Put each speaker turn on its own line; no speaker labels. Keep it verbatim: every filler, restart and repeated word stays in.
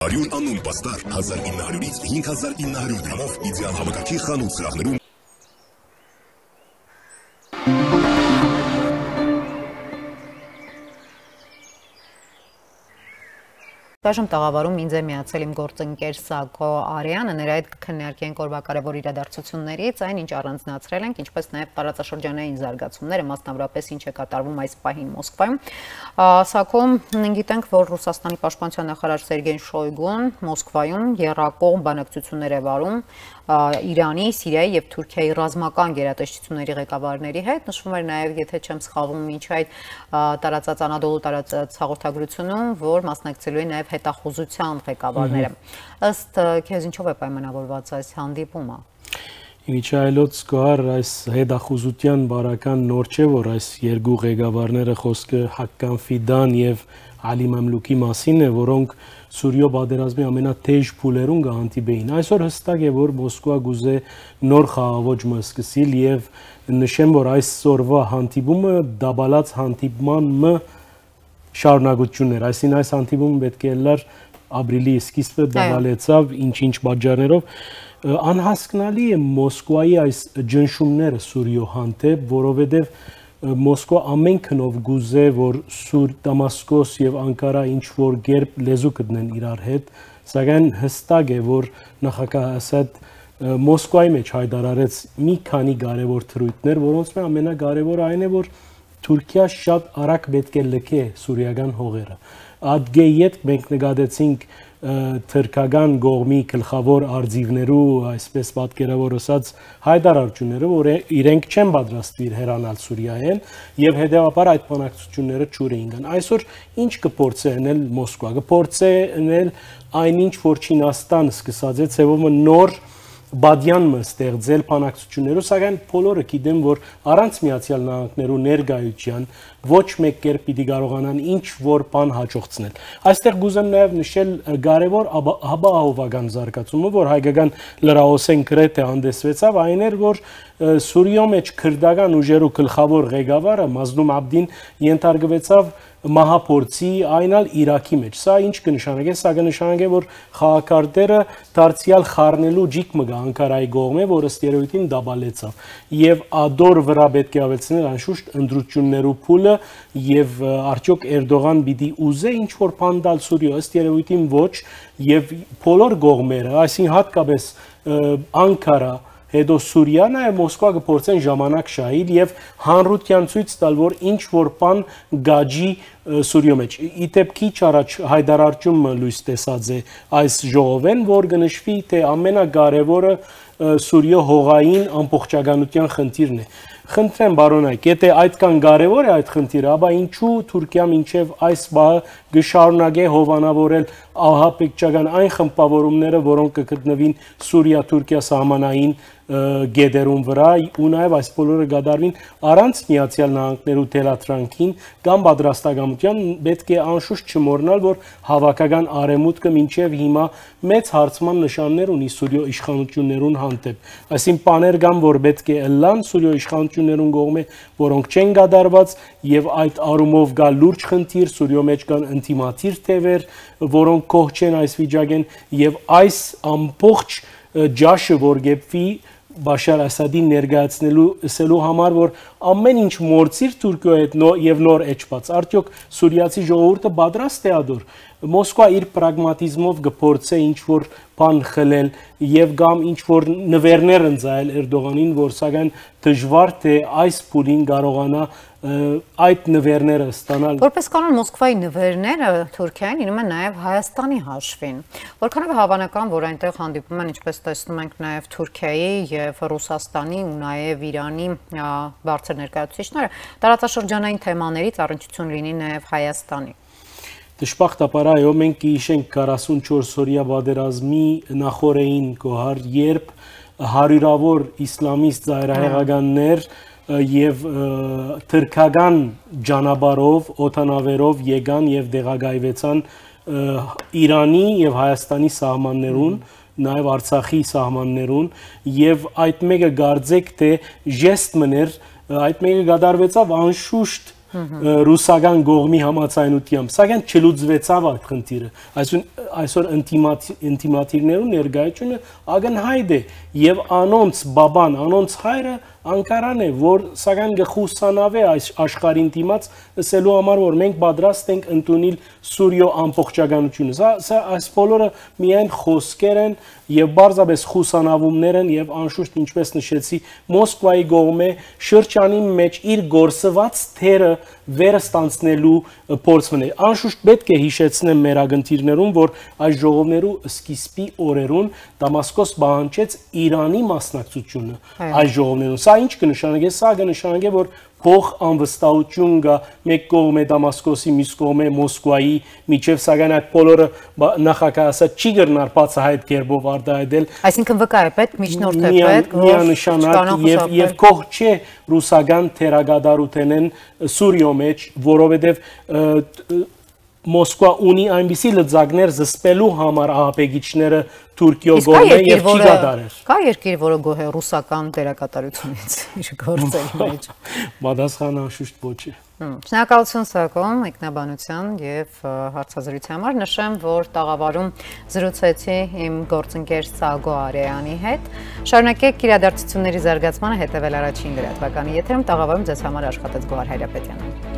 Արյուն անուն պաստար հազար ինը հարյուրից հինգ հազար ինը հարյուր դրամով իդեալ համակարգի խանութ սրահներում
Այժմ տաղավարում ինձ է միացել իմ գործընկեր Սակո Արյանը, նրա հետ կքննարկենք օրվա կարևոր իրադարձություններից, այն ինչ առանձնացրել ենք, ինչպես նաև տարածաշրջանային զարգացումները, մասնավորապես ինչ է կատարվում այս պահին Մոսկվայում։ Սակո, գիտենք, որ Ռուսաստանի պաշտպանության նախարար Սերգեյ Շոյգուն Մոսկվայում եռակողմ բանակցություններ է վարում Իրանի, Սիրիայի եւ Թուրքիայի ռազմական գերատեսչությունների ղեկավարների հետ, նշվում էր նաև, եթե չեմ սխալվում, ինչ այդ տարածած Անադոլու տարածած հաղորդագրությունում, որ մասնակցելու են նաև հետախուզության ղեկավարները։ Ըստ քեզ ինչով է պայմանավորված այս հանդիպումը։
Իմիջայլոց կար այս հետախուզության բարական նոր չէ, որ այս երկու ղեկավարները խոսքը Հակկան Ֆիդան եւ Ալի Մամլուկի մասին է, որոնք Սուրիո պատերազմի ամենաթեժ փուլերում կհանդիպեին։ Այսօր հստակ է, որ Մոսկվա գուզե նոր խաղաղոճմը սկսել եւ նշեմ, որ այսօրվա հանդիպումը դաբալած հանդիպման շարունակություններ, այսինքն այս հանդիպումը պետք է լար ապրիլի սկիզբը դաբալեցավ ինչ-ինչ պատճառներով։ Անհասկանալի է Մոսկվայի այս ջնշումները Սուրիո հանդեպ, որովհետեւ Մոսկվա ամեն քնով գուզե, որ Սուր Դամասկոս եւ Անկարա ինչ որ գերբ լեզու գտնեն իրար հետ, սակայն հստակ է, որ նախագահ Ասադ Մոսկվայի մեջ հայտարարեց մի քանի կարևոր թրույթներ, որոնց մեջ ամենակարևորը այն է, որ Թուրքիա շատ արագ պետք է լքե սուրիական հողերը։ Ադգեի հետ մենք նկատեցինք թրքական գողմի գլխավոր արձիվներու, այսպես պատկերավոր ասած, հայտարարությունները, որ իրենք չեն պատրաստվիր հեռանալ Սուրիայեն եւ հետեւաբար այդ բանակցությունները ճուր էին գան։ Այսօր ինչ կփորձե անել Մոսկվա, կփորձե անել այնինչ որ Չինաստան սկսած է ցեվով նոր բադյան ստեղծել բանակցություններով, սակայն բոլորը գիտեն, որ առանց Միացյալ Նահանգներու ներկայության ոչ մեկ կերպ պիտի կարողանան ինչ որ բան հաջողցնել։ Այստեղ գուզեմ նաև նշել կարևոր հաբահովական զարգացումը, որ հայկական լրահոսեն գրեթե հանդեսվեցավ, այն էր, որ Սուրիո մեջ քրդական ուժերու գլխավոր ղեկավարը Մազլում Աբդին ենթարկվեցավ մահափորձի այնալ Իրաքի մեջ։ Սա ինչ կնշանակե, սա կնշանակե, որ խաղակարտերը դարձյալ խառնելու ջիկ մգա Անկարայի կողմը, որը ստերոյդին դաբալեցավ։ Եվ ադոր վրա պետք է ավելցնել անշուշտ ընդրություններու փուլը եւ արդյոք Էրդողան պիտի ուզե ինչ որ բան տալ Սուրիո, ստերոյդին ոչ, եւ բոլոր կողմերը, այսինքն հատկապես Անկարա հետո Սուրիա նաև Մոսկվա կփորձեն ժամանակ շահել եւ հանրության ցույց տալ, որ ինչ որ բան գաջի Սուրիո մեջ։ Իդեպ քիչ առաջ հայտարարությունը լույս տեսած է այս ժողովեն, որ կնշվի, թե ամենակարևորը Սուրիո հողային ամբողջականության խնդիրն է։ Խնդրեմ բարոնայք, եթե այդքան կարևոր է այդ խնդիրը, ապա ինչու Թուրքիա մինչև այս բանը գշարունակե հովանավորել ահաբեկչական այն խմբավորումները, որոնք կգտնվին Սուրիա-Թուրքիա սահմանային գետերում վրա ու նաև այս բոլորը կդարվին առանց Միացյալ Նահանգներու թելատրանքին կամ պատրաստակամության, պետք է անշուշտ չմոռանալ, որ հավաքական արևմուտքը մինչև հիմա մեծ հարցման նշաններ ունի Սուրիո իշխանություններուն հանդեպ։ Այսինքն բաներ կան, որ պետք է ըլլան Սուրիո իշխանություններուն կողմէ, որոնք չեն կատարված եւ այդ առումով կա լուրջ խնդիր, Սուրիո մեջ կան ինտիմատիր թևեր, որոնք կողջ չեն այս վիճակեն եւ այս ամբողջ ջաշը, որ գեպվի Բաշար Ասադին ներկայացնելու ասելու համար, որ ամեն ինչ մորցիր Թուրքիայի հետ եւ նոր էջված, արդյոք սուրիացի ժողովուրդը պատրաստ է ադոր։ Մոսկվա իր պրագմատիզմով կփորձե ինչ որ բան խլել եւ կամ ինչ որ նվերներ ընձայել Էրդողանին, որ սակայն դժվար թե այս փուլին կարողանա այդ նվերները ստանալ։
Որպես կանոն Մոսկվայի նվերները Թուրքիային ինում են նաև Հայաստանի հաշվին։ Որքանով է հավանական, որ այնտեղ հանդիպում են, ինչպես տեսնում ենք, նաև Թուրքիայի եւ Ռուսաստանի ու նաև Իրանի բարձր ներկայացուցիչները, տարածաշրջանային թեմաներից առնչություն լինի նաև Հայաստանի։
Դժբախտաբար այո, մենք կհիշենք քառասունչորս օրյա պատերազմի նախորդին գոհար, երբ հարյուրավոր իսլամիստ ծայրահեղականներ եւ թրքական ջանաբարով, օտանավերով եկան եւ դեղագայվեցան Իրանի եւ Հայաստանի սահմաններուն, նաեւ Արցախի սահմաններուն եւ այդ մեկը գարձեք թե ժեստ մներ, այդ մեկը կատարվեցավ անշուշտ ռուսական գողմի համացայնությամբ, սակայն չլուծվեցավ այդ խնդիրը։ Այսօր այսօր ինտիմատիվներու ներկայությունը ակնհայտ է եւ անոնց բաբան, անոնց հայրը Անկարան է, որ սակայն գխուսանավ է այս աշխարհին դիմաց ասելու համար, որ մենք պատրաստ ենք ընդունել Սուրիո ամբողջականությունը։ Սա սա այս բոլորը միայն խոսքեր են եւ բարձրապես խուսանավումներ են եւ անշուշտ ինչպես նշեցի Մոսկվայի գողմե շրջանի մեջ իր գործված թերը վերստանցնելու փորձն է։ Անշուշտ պետք է հիշեցնեմ մեր ագընթիրներուն, որ այս ժողովներու սկիզբի օրերուն Դամասկոս բանջեց Իրանի մասնակցությունը այս ժողովներուն։ Սա ինչ կնշանակի, սա կնշանակի, որ փող անվստահություն կա մեկ կողմը Դամասկոսի, մյուս կողմը Մոսկվայի միջև, սակայն այդ բոլորը նախագահասա չի գրնար բացահայտ կերպով արտահայտել։
Այսինքն վկա է պետք, միջնորդ է պետք, որ
միանշանակ եւ եւ կող չէ ռուսական թերագադարութենեն Սուրիո մեջ, որովհետեւ Մոսկվա ունի այնպիսի լծակներ զսպելու համար ահապեգիչները Թուրքիո գողմե եւ չի գադարեր։
Կա երկիր, որը գոհ է ռուսական դերակատարությունից իր գործերի մեջ։
Պատասխանը անշուշտ ոչ է։
Շնորհակալություն Սակոն մեկնաբանության եւ հարցազրույցի համար։ Նշեմ, որ տաղավարում զրուցեցի իմ գործընկեր Սագո Արեյանի հետ։ Շարունակեք իրադարձությունների զարգացմանը հետեւել առաջին լրատվականի եթերում։ Տաղավարում ձեզ համար աշխատեց Գոհար Հայրապետյանը։